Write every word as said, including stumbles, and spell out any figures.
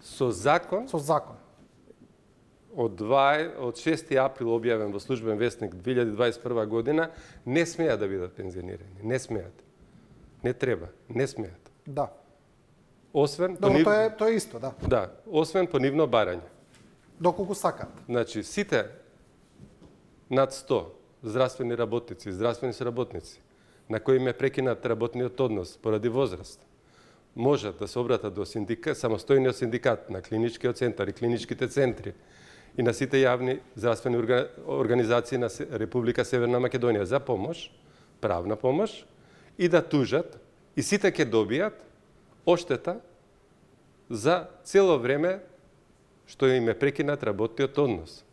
Со закон, Со закон. од, два, од шести април објавен во Службен весник две илјади дваесет и прва година, не смеат да бидат пензионирани. Не смеат. Не треба. Не смеат. Да. Освен Добро, нив... тоа е тоа е исто, да. Да, освен по нивно барање. Доколку сакаат. Значи, сите над сто здравствени работници, здравствени соработници, на кои им е прекинат работниот однос поради возраст, можат да се обратат до синдикат, самостојниот синдикат на клиничкиот центар и клиничките центри и на сите јавни здравствени организации на Република Северна Македонија за помош, правна помош, и да тужат, и сите ќе добијат оштета за цело време што им е прекинат работниот однос.